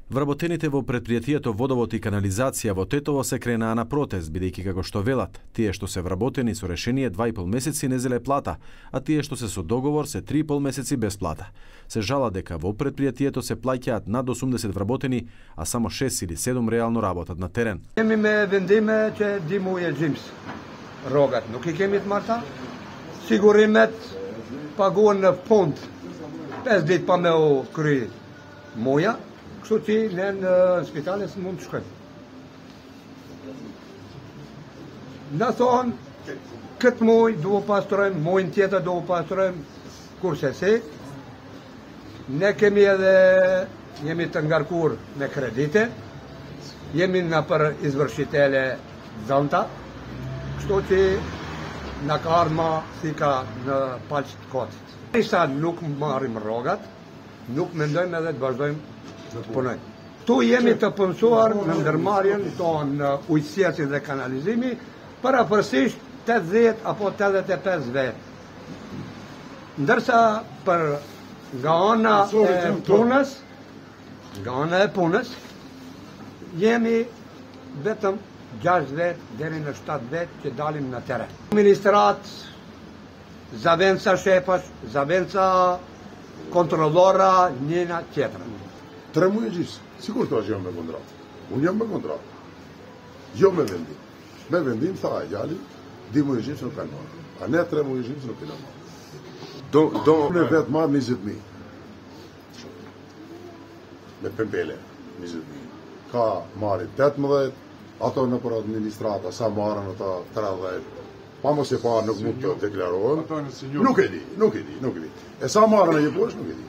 Вработените во претпријатието Водовод и канализација во Тетово се кренаа на протест, бидејќи како што велат, тие што се вработени со решение 2,5 месеци не зеле плата, а тие што се со договор се 3,5 месеци без плата. Се жала дека во претпријатието се плаќаат над 80 вработени, а само 6 или 7 реално работат на терен. Кеми ме вендиме че димуе джимс. Рогат, nuk I kemi të marta. Sigurimet paguhen në fund 5 ditë pa me u kry muja, kështu që ne në spitale së mund të shkojmë. Na thonë, këtë muj duhet pastrojmë, mujnë tjetër duhet pastrojmë, kurse si. Ne kemi edhe, jemi të ngarkur me kredite, jemi në për izvërshitele dhënta, kështu që në ka ardhma si ka në palç të kotit. Sa nuk marrim rrogat, nuk mendojmë edhe të vazhdojmë të punojmë. Tu jemi të punësuar në ndërmarrjen tonë ujësjesit dhe kanalizimi, parapërsisht 80 apo 85 vet. Ndërsa për nga ana e punës, jemi vetëm 6 vet deri në 7 vet që dalim në teren. Ministrat, zavenca shepash, zavenca kontrollora, njëna tjetra. 3 muaj gjys, sikur të është jam me kontratë. Unë jam me kontratë. Jo me vendim. Me vendim, tha e gjali, 2 muaj gjys nuk kanë marrë. A ne 3 muaj gjys nuk kanë marrë. Unë vetë marrë 20.000. Me pempele, 20.000. Ka marrë 18, ato në për administrata, sa marrën ata 30. Pa mos e parë nuk mund të deklarohen. Nuk e di. E sa marrën e jeposh, nuk e di.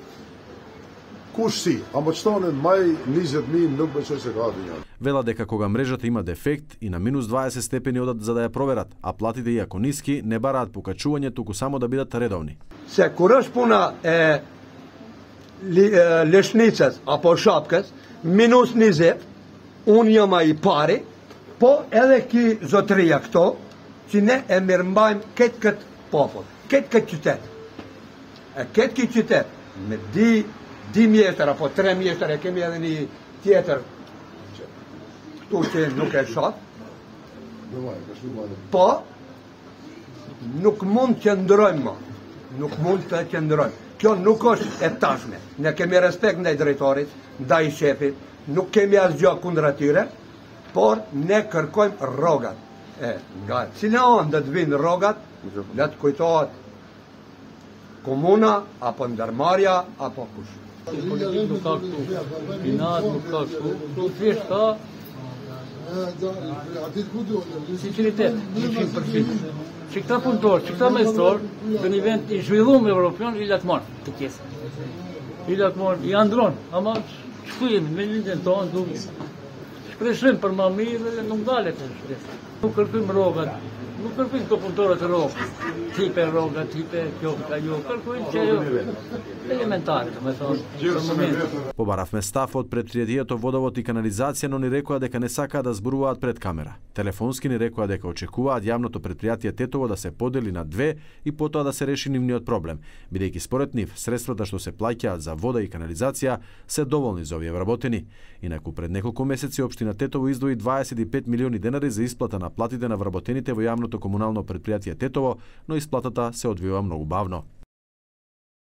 Kush si, a më qëtonin maj 20.000 nuk beqoj se ka atë njërë. Вела дека кога мрежата има дефект и на минус 20 степени одат за да ја проверат, а платите иако ниски не бараат покачување, туку само да бидат редовни. Se kur është puna e leshnicës apo shapkës, minus 20, unë jam ai pari, po edhe ki zotëria këto, që ne e mirëmbajmë këtë popull, këtë qytet. E këtë qytet, me di mjeshtër apo 3 mjeshtër, e kemi edhe një tjetër, këtu që nuk e shoh, po nuk mund të qëndrojmë, nuk mund të qëndrojmë. Kjo nuk është e tashme. Ne kemi respekt ndaj drejtorit, ndaj shefit, nuk kemi asgjë kundër atyre, por ne kërkojmë rrogat. Nga cila anë do të vinë rrogat, le të kujtohet komuna apo ndërmarrja apo kush. Politik nuk ka këtu, binat nuk ka këtu, këtu thjesht ka sinceritet, 100%. Që këta punëtorë, që këta mestorë, në një vend I zhvilluar evropian, I latmon të pjesë. I latmon, I andron, ama çku jemi me lindjen tonë, duke shpresojmë për më mirë dhe nuk dalet e shpresë. Nuk kërkojmë rrogat, nuk kërkojmë këto punëtorë të rrogë, tipe rroga, tipe kjo, ajo, kërkojmë që елементари, да ме thonë. Побаравме став од претпријатието Водовод и канализација, но ни рекоа дека не сакаат да зборуваат пред камера. Телефонски ни рекоа дека очекуваат јавното претпријатие Тетово да се подели на 2 и потоа да се реши нивниот проблем, бидејќи според нив средствата што се плаќаат за вода и канализација се доволни за овие вработени. Инаку пред неколку месеци општина Тетово издвои 25 милиони денари за исплата на платите на вработените во јавното комунално претпријатие Тетово, но исплатата се одвива многу бавно.